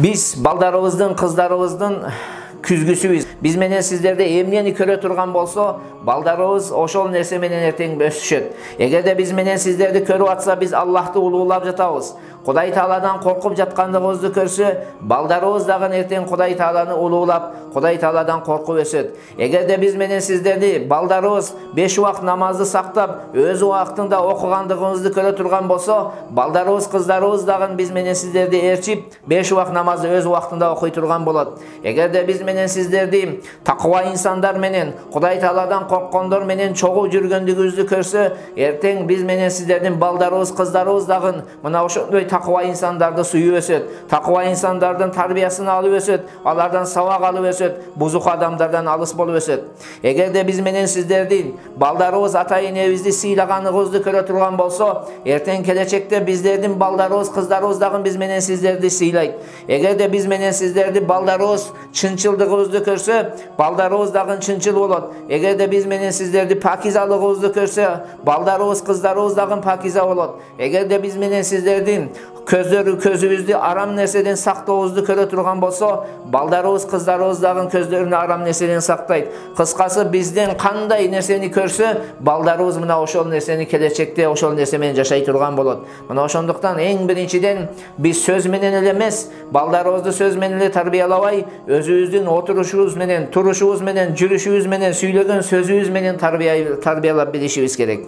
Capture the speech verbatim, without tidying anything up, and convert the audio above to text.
Биз балдарыбыздын, кыздарыбыздын күзгүсүбүз. Биз менен сиздерде эмнени көрө турган болсо, балдарыбыз ошол нерсе менен эртең өсүшөт. Эгерде биз менен сиздерди көрүп атса, биз Аллахты улуулап жатабыз. Кудай Тааладан коркуп жаткандыгыбызды көрсө, балдарыбыз дагы эртең Кудай Тааланы улуулап, Кудай Тааладан коркуп өсөт. Эгерде биз менен сиздерди балдарыбыз беш убакыт намазды сактап, өз убактында окугандыгыбызды көрө турган болсо, балдарыбыз, кыздарыбыз дагы биз менен сиздерди ээрчип, беш убакыт намазды өз убактында окуй турган болот. Эгерде биз менен сиздерди такыба инсандар менен, Кудай Тааладан корккондор менен чогуу жүргөндүгүбүздү көрсө, эртең биз менен сиздердин балдарыбыз, кыздарыбыз дагы мына ошондой такыба инсандарды сүйүп өсөт. Такыба инсандардын тарбиясын алып өсөт, алардан сабак алып өсөт, бузук адамдардан алыс болуп өсөт. Эгерде биз менен сиздердин балдарыбыз ата-энебизди сыйлаганыбызды көрө турган болсо, эртең келечекте биздердин балдарыбыз, кыздарыбыз дагы биз менен сиздерди сыйлайт. Эгерде биз менен сиздерди балдарыбыз чынчылдыгыбызды көрсө, балдарыбыз дагы чынчыл болот. Эгерде биз менен сиздерди пакизалыгыбызды көрсө, балдарыбыз, кыздарыбыз дагы пакиза болот. Эгерде биз менен сиздердин көздөрү көзүбүздү арам нерседен сактообузду көрө турган болсо, балдарыбыз, кыздарыбыз дагы көздөрүн арам нерседен сактайт. Кыскасы, бизден кандай нерсени көрсө, балдарыбыз мына ошол нерсени келечекте ошол нерсе менен жашай турган болот. Мына ошондуктан эң биринчиден биз сөз менен эле эмес, балдарыбызды сөз менен эле тарбиялабай, өзүбүздүн отурушубуз менен, турушубуз менен, жүрүшүбүз менен, сүйлөгөн сөзүбүз менен тарбиялап билишибиз керек.